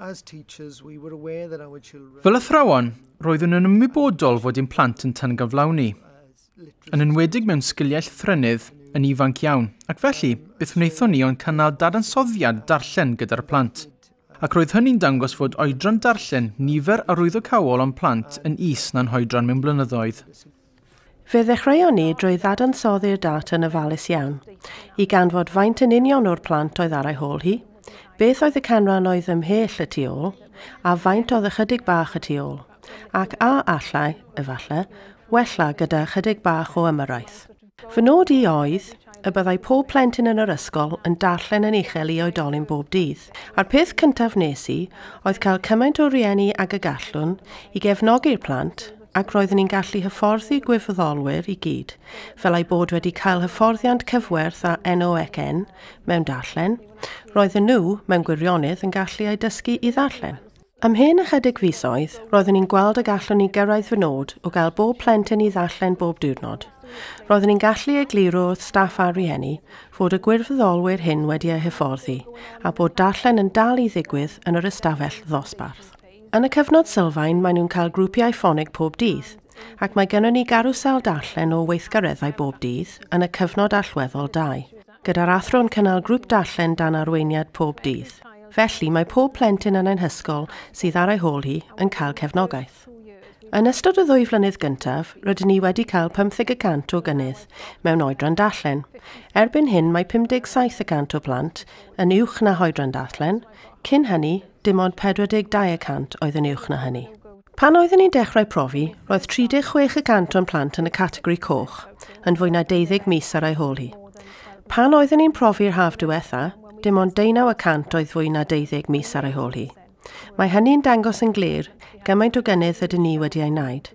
As teachers, we were aware that our children Fel athrawon, roeddwn yn ymwybodol fod ein plant yn tangyflawni, yn enwedig mewn sgiliau llythrennedd yn ifanc iawn, ac felly, beth wnaethon ni ond cynnal dadansoddiad darllen gyda'r plant. Ac roedd hynny'n dangos fod oedran darllen nifer arwyddocaol o'n plant yn is na'n hoedran mewn blynyddoedd. Fe ddechreuon ni drwy ddadansoddi'r data yn ofalus iawn, i ganfod faint yn union o'r plant oedd ar ei hôl hi, beth oedd y canran oedd ymhell y tu ôl, a faint oedd ychydig bach y tu ôl, ac a allai, efallai, wella gyda chydig bach o ymyrraeth. Fy nod i oedd y byddai pob plentyn yn yr ysgol yn darllen yn uchel i oedolyn bob dydd. A'r peth cyntaf nes i oedd cael cymaint o rieni ag y gallwn i gefnogi'r plant, ac roeddwn i'n gallu hyfforddi gwirfoddolwyr i gyd, fel eu bod wedi cael hyfforddiant cyfwerth â NOECN mewn darllen, roedden nhw, mewn gwirionedd, yn gallu eu dysgu i ddarllen. Ymhen ychydig fisoedd, roeddwn i'n gweld y gallwn i gyrraedd fy nod o gael bob plentyn i ddarllen bob diwrnod. Roeddwn i'n gallu egluro wrth staff a rhieni fod y gwirfoddolwyr hyn wedi eu hyfforddi a bod darllen yn dal i ddigwydd yn yr ystafell ddosbarth. Yn y cyfnod sylfaen, maen nhw'n cael grwpiau ffonig pob dydd, ac mae gennym ni garwsel darllen o weithgareddau bob dydd yn y cyfnod allweddol 2, gyda'r athro'n cynnal grŵp darllen dan arweiniad pob dydd. Felly, mae pob plentyn yn ein hysgol sydd ar ei hôl hi yn cael cefnogaeth. Yn ystod y 2 flynedd gyntaf, rydyn ni wedi cael 50% o gynnydd mewn oedran darllen. Erbyn hyn, mae 57% o plant yn uwch na hoedran darllen. Cyn hynny, dim ond 42% oedd yn uwch na hynny. Pan oeddwn ni'n dechrau profi, roedd 36% o'n plant yn y categori coch, yn fwy na 12 mis ar ei hôl hi. Pan oeddwn ni'n profi'r haf diwetha, dim ond 19% oedd fwy na 12 mis ar ei hôl hi. Mae hynny'n dangos yn glir gymaint o gynnydd ydyn ni wedi ei wneud.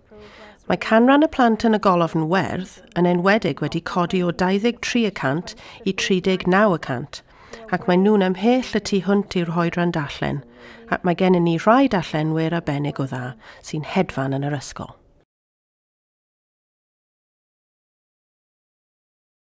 Mae canran y plant yn y golofn werdd yn enwedig wedi codi o 23% i 39%, ac mae nhw'n ymhell y tu hwnt i'r hoedran darllen, ac mae gennym ni rhai darllenwyr arbennig o dda sy'n hedfan yn yr ysgol.